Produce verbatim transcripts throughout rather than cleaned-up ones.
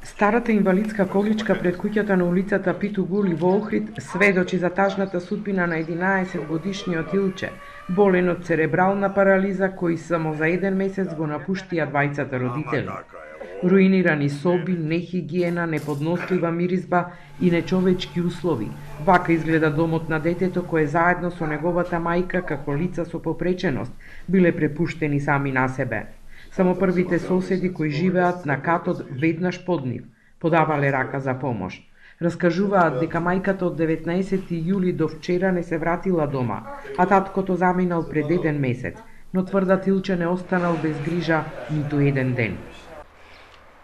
Старата инвалидска количка пред куќата на улицата Питу Гули во Охрид сведочи за тажната судбина на единаесет годишниот Илче, болен од церебрална парализа, кој само за еден месец го напуштија двајцата родители. Руинирани соби, нехигиена, неподнослива миризба и нечовечки услови. Вака изгледа домот на детето кое заедно со неговата мајка како лица со попреченост биле препуштени сами на себе. Само првите соседи кои живеат на катот веднаш под нив подавале рака за помош. Раскажуваат дека мајката од деветнаесети јули до вчера не се вратила дома, а таткото заминал пред еден месец, но тврдат Илче не останал без грижа ниту еден ден.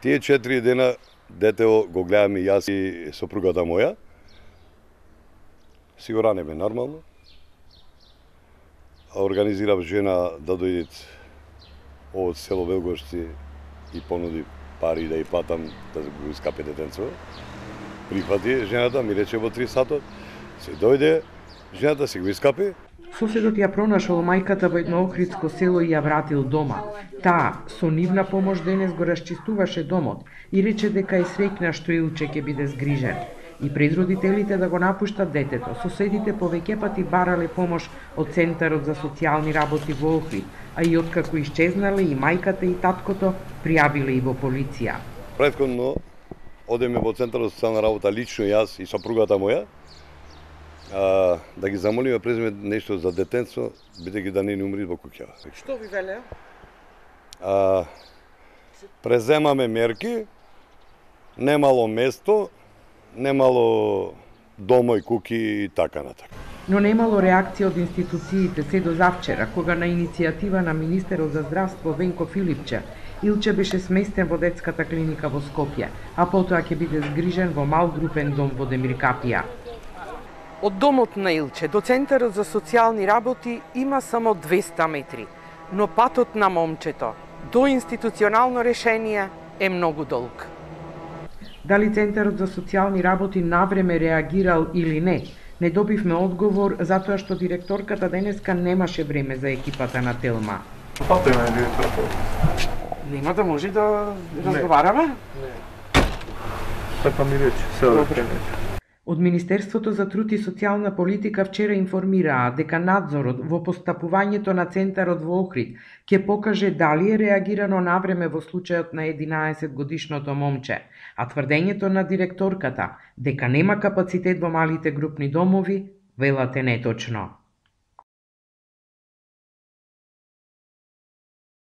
Тие четири дена детево го гледаме јас и сопругата моја. Си го ранеме нормално. Организирав жена да дојдет од село Велгошци и понуди пари да ја платам да го искапе детенцо. Прифати жената, ми рече во три сатот, се дојде, жената се го искапе. Соседот ја пронашол мајката во едно охридско село и ја вратил дома. Таа, со нивна помош денес го расчистуваше домот и рече дека е среќна што Илче ќе биде згрижен. И пред родителите да го напуштат детето, соседите повеќе пати барале помош од Центарот за социјални работи во Охрид, а и откако исчезнале и мајката и таткото, пријавиле и во полиција. Претходно одеме во Центарот за социјална работа лично јас и сопругата моја, а, да ги замолиме преземе нешто за детенцо, бидејќи да не ни умри во куќава. Што ви велеа? А, преземаме мерки, немало место, немало домој, куки и така натака. Но немало реакција од институциите се до завчера, кога на иницијатива на министерот за здравство Венко Филипче, Илче беше сместен во детската клиника во Скопје, а потоа ќе биде згрижен во мал групен дом во Демиркапија. Од домот на Илче до Центарот за социјални работи има само двеста метри, но патот на момчето до институционално решение е многу долг. Дали Центарот за социјални работи навреме реагирал или не, не добивме одговор затоа што директорката денеска немаше време за екипата на Телма. Пато има директорка. Нема да може да разговараме? Не. Така ми рече, сега да рече. Од Министерството за труд и социјална политика вчера информираа дека надзорот во постапувањето на Центарот во Охрид ќе покаже дали е реагирано навреме во случајот на единаесет годишното момче, а тврдењето на директорката дека нема капацитет во малите групни домови велат е неточно.